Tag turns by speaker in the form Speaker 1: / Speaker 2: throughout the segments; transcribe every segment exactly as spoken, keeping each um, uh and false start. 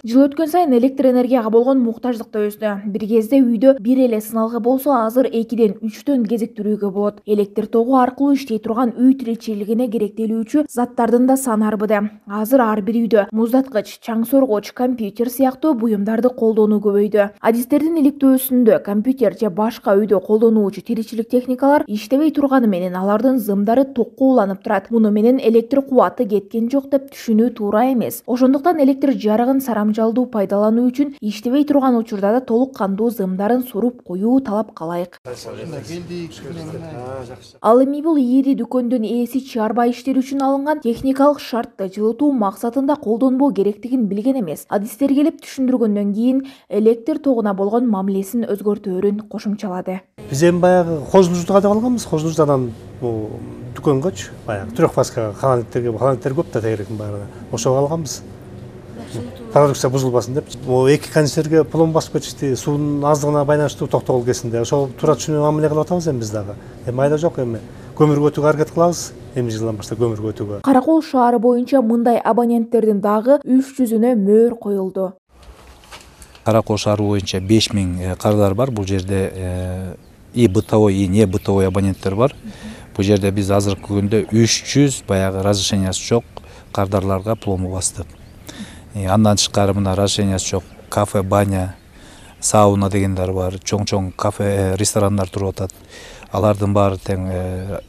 Speaker 1: Жыл өткөн сайын электр энергияга болгон муктаждык да өстү. Бир кезде үйдө бир эле сыналгы болсо, азыр экиден үчтөн кезиктирүүгө болот. Электр тогу аркылуу иштей турган үй тиричилигине керектелүүчү заттардын да саны арбыды. Азыр ар бир үйдө муздаткыч, чаң соргоч, компьютер сыяктуу буюмдарды колдонуу көбөйдү. Адистердин иликтөөсүндө компьютер же башка үйдө колдонуучу тиричилик техникалар иштебей турганы менен алардын зымдары токко уланып турат. Муну менен электр кубаты кеткен жок деп түшүнүү туура эмес. Ошондуктан электр жарыгын сарамжалдуу пайдалануу үчүн иштебей турган учурда да толук кандуу зымдарын суруп коюу талап калайык. Ал эми бул ири дүкөндүн ээси чыгарбай иштер үчүн алынган техникалык шартты жылытуу максатында колдонбоо керектигин билген эмес. Адистер келип түшүндүргөндөн кийин электр тогуна болгон мамилесин өзгөртөөрүн кошумчалады.
Speaker 2: Биз эми баягы хозунуждуга деп алганбыз. Хозунуждан бул дүкөнгөчү баягы трехфаска каналиттерге каналиттер көп да тегеректин баарына. Ошого алганбыз. Продукция бузулбасын деп. Могу эки кондиционерге пломба басып кетишти. Суунун аздыгына байланыштуу токтогул кезинде. Ошол туура түшүнүп мамиле кылып атабыз эми биз дагы. Эми айда жок эми көмүргө өтүүгө аракет кылабыз. Эми жылдан баштап көмүргө өтүүгө.
Speaker 1: Каракол шаары боюнча мындай абоненттердин дагы үч жүзүнө мөөр коюлду.
Speaker 3: Каракол шаары боюнча беш миң кардар бар. Бул жерде и бытовой, и не бытовой абоненттер бар. Бул жерде биз азыркы күндө үч жүз баягы разрешениясы жок кардарларга пломба бастык. Андан тышкары мына разрешениясы жок кафе, баня, сауна дегендер бар. Чоң-чоң кафе, ресторандар туруп атат. Алардын баары тең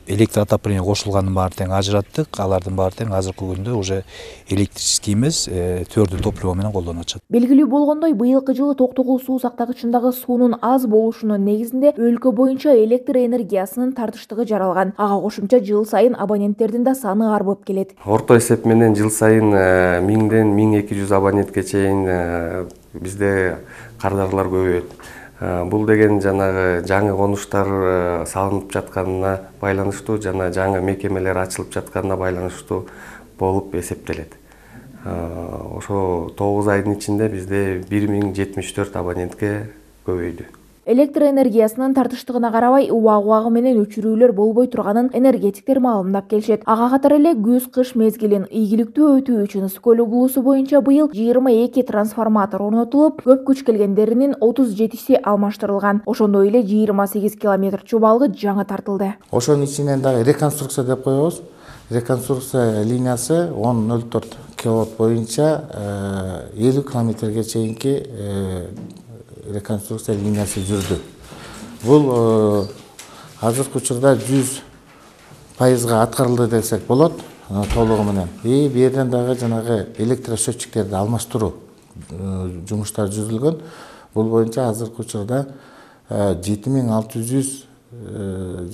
Speaker 3: электроотопление кошулганын баары тең ажыраттык. Алардын баары тең азыркы күндө уже электрический эмес, төрдү топливо менен колдонуп атышат.
Speaker 1: Белгилүү болгондой, быйылкы жылы Токтогул суу сактагычындагы суунун аз болушунун негизинде өлкө боюнча электр энергиясынын тартыштыгы жаралган. Ага кошумча жыл сайын абоненттердин да саны арбып келет.
Speaker 4: Орто эсеп менен жыл сайын миңден миң эки жүз абонентке чейин бизде кардарлар көбөйөт. Бул деген жанагы жаңы конуштар салынып жатканына байланыштуу жана жаңы мекемелер ачылып жатканына байланыштуу болуп эсептелет. Ошо тогуз айдын ичинде бизде бир миң жетимиш төрт абонентке көбөйдү.
Speaker 1: Электр энергиясынын тартыштыгына карабай убак-убагы менен өчүрүүлөр болбой турганын энергетиктер маалымдап келишет. Ага катары эле күз-кыш мезгилин ийгиликтүү өтүү үчүн Ысык-Көл облусу боюнча быйыл жыйырма эки трансформатор орнотулуп, көп күч келгендеринин отуз жетиси алмаштырылган. Ошондой эле жыйырма сегиз километр чубалгы жаңы тартылды.
Speaker 5: Ошонун ичинен дагы реконструкция деп коебуз. Реконструкция линиясы он ноль төрт киловатт боюнча элүү километрге чейинки реконструкция линиясы жүрдү. Бул азыркы учурда жүз пайызга аткарылды десек болот, толугу менен. И бу жерден дагы жанагы электросчетчиктерди алмаштыруу жумуштары жүргүзүлгөн. Бул боюнча азыркы учурда жети миң алты жүз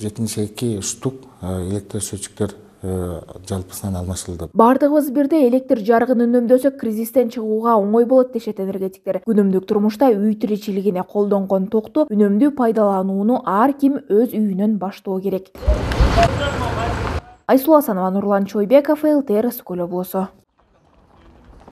Speaker 5: жетимиш эки штук электросчетчиктер жалпысынан алмашылды.
Speaker 1: Бардыгыбыз бирде электр жарыгын үнөмдөсөк, кризистен чыгууга оңой болот дешет энергетиктер. Күнүмдүк турмушта үй тиричилигине колдонгон токту үнөмдүү пайдаланууну ар ким өз үйүнөн баштоо керек. Айсулуу Асанова, Нурлан Чойбеков, эл тэ эр Ысык-Көл облусу.